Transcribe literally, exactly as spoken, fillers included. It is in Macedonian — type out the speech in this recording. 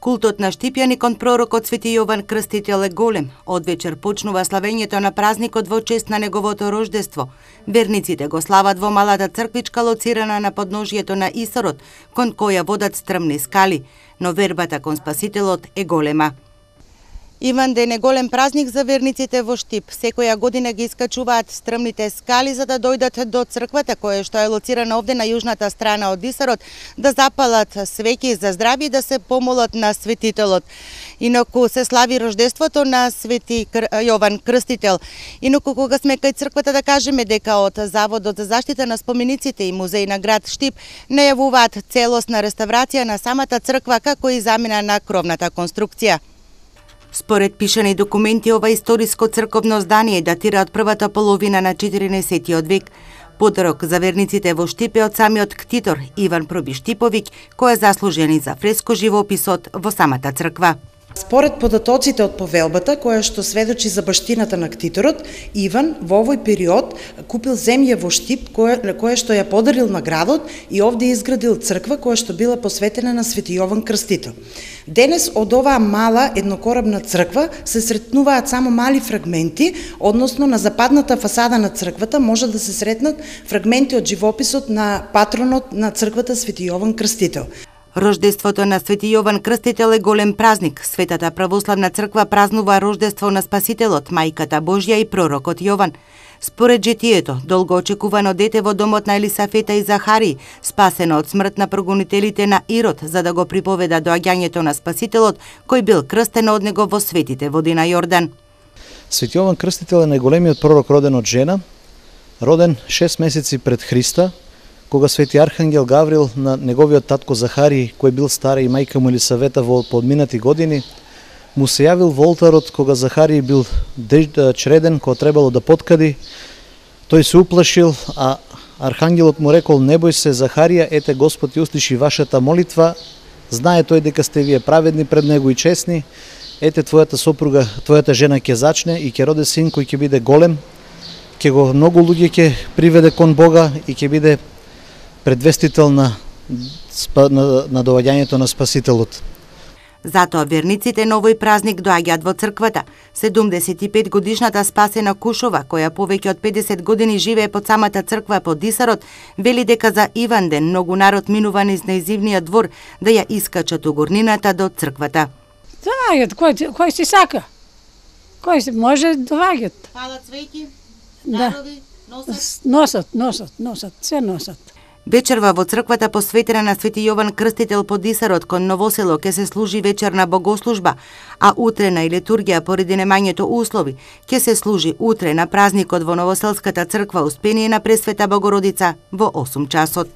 Култот на Штипјани кон пророкот Свети Јован Крстител е голем. Од вечер почнува славењето на празникот во чест на неговото рождество. Верниците го слават во малата црквичка лоцирана на подножието на Исорот, кон која водат стрмни скали, но вербата кон Спасителот е голема. Иванден е голем празник за верниците во Штип. Секоја година ги искачуваат стрмните скали за да дојдат до црквата која што е лоцирана овде на јужната страна од Исорот, да запалат свеќи за здравје и да се помолат на Светителот. Инаку се слави рождеството на Свети Јован Крстител. Инаку кога сме кај црквата да кажеме дека од Заводот за заштита на спомениците и музеј на град Штип најавуваат целосна реставрација на самата црква како и замена на кровната конструкција. Според пишани документи, ова историско црковно здание датира од првата половина на четирнаесеттиот век. Подарок за верниците во Штип е од самиот ктитор Иван Проби Штиповиќ, кој е заслужен и за фреско живописот во самата црква. Според податоците од повелбата, која што сведочи за баштината на ктиторот, Иван во овој период купил земја во Штип, која, која што ја подарил на градот и овде изградил црква која што била посветена на Свети Јован Крстител. Денес од оваа мала еднокорабна црква се сретнуваат само мали фрагменти, односно на западната фасада на црквата може да се сретнат фрагменти од живописот на патронот на црквата Свети Јован Крстител. Рождеството на Свети Јован Крстител е голем празник. Светата православна црква празнува рождество на Спасителот, мајката Божја и пророкот Јован. Според жетието, долго очекувано дете во домот на Елисафета и Захари, спасено од смрт на прогонителите на Ирод, за да го приповеда доаѓањето на Спасителот, кој бил крстен од него во светите води на Јордан. Свети Јован Крстител е најголемиот пророк роден од жена, роден шест месеци пред Христа, кога Свети Архангел Гаврил на неговиот татко Захари, кој бил стар и мајка му Елисавета во подминати години, му се јавил во олтарот кога Захари бил чреден, кога требало да поткади. Тој се уплашил, а Архангелот му рекол: "Не бој се, Захарија, ете Господ ја услиши вашата молитва, знае тој дека сте вие праведни пред него и честни, ете твојата сопруга, твојата жена ќе зачне и ќе роде син кој ќе биде голем, ќе го многу луѓе ќе приведе кон Бога и ќе биде предвестител на, на, на доаѓањето на Спасителот." Затоа верниците на овој празник доаѓаат во црквата. седумдесет и пет годишната Спасена Кушова, која повеќе од педесет години живее под самата црква под Исарот, вели дека за Иванден многу народ минува низ нејзивниот двор да ја искачат угорнината до црквата. Доаѓаат, кој, кој си сака. Кој си може доаѓаат. Палат свеќи, дарови, носат. Носат, носат, носат, се носат. Вечерва во црквата посветена на Свети Јован Крстител под Исарот кон Новосело ќе се служи вечерна богослужба, а утрена и литургија поради немањето услови ќе се служи утре на празникот во Новоселската црква Успение на Пресвета Богородица во осум часот.